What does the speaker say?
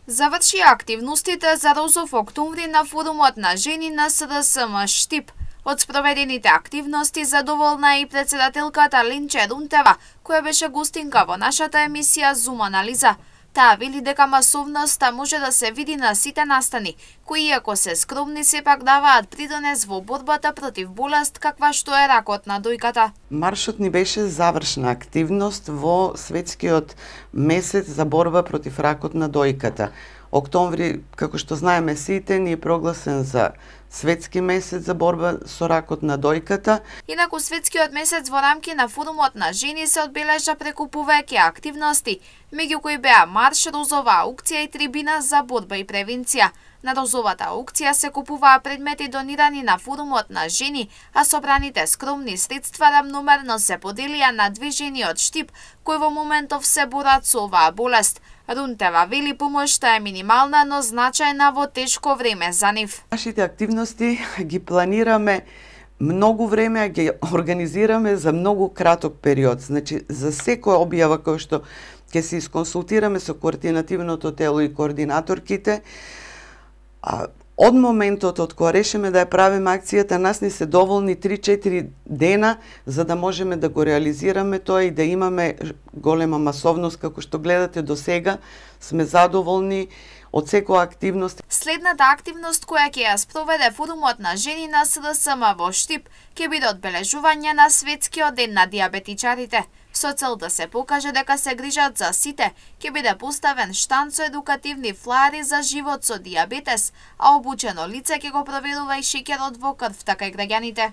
Заврши активностите за Розов октомври на форумот на жени на СДСМ Штип. Од спроведените активности задоволна е и председателката Линче Рунтева, која беше гостинка во нашата емисија Зум анализа. Таа вели дека масовноста може да се види на сите настани, кои иако се скромни сепак даваат придонес во борбата против болест каква што е ракот на дојката. Маршот ни беше завршна активност во светскиот месец за борба против ракот на дојката. Октомври, како што знаеме сите, ни е прогласен за светски месец за борба со ракот на дојката. Инаку светскиот месец во рамки на форумот на жени се одбележа преку повеќе активности, меѓу кои беа марш, розова аукција и трибина за борба и превенција. На розовата аукција се купуваа предмети донирани на форумот на жени, а собраните скромни средства рамномерно се поделија на две жени од Штип, кои во моментов се борат со оваа болест. Рунтева вели помошта е минимална, но значајна во тешко време за нив. Нашите активности ги планираме многу време, а ги организираме за многу краток период. Значи, за секоја објава која што ќе се исконсултираме со координативното тело и координаторките, од моментот од кога решиме да ја правиме акцијата, нас ни се доволни 3-4 дена за да можеме да го реализираме тоа и да имаме голема масовност. Како што гледате до сега, сме задоволни од секоја активност. Следната активност која ќе ја спроведе форумот на жени на СДСМ во Штип ќе биде одбележување на светскиот ден на диабетичарите. Со цел да се покаже дека се грижат за сите, ќе биде поставен штанд со едукативни флаери за живот со диабетес, а обучено лице ќе го проверува и шеќерот во крвта кај граѓаните.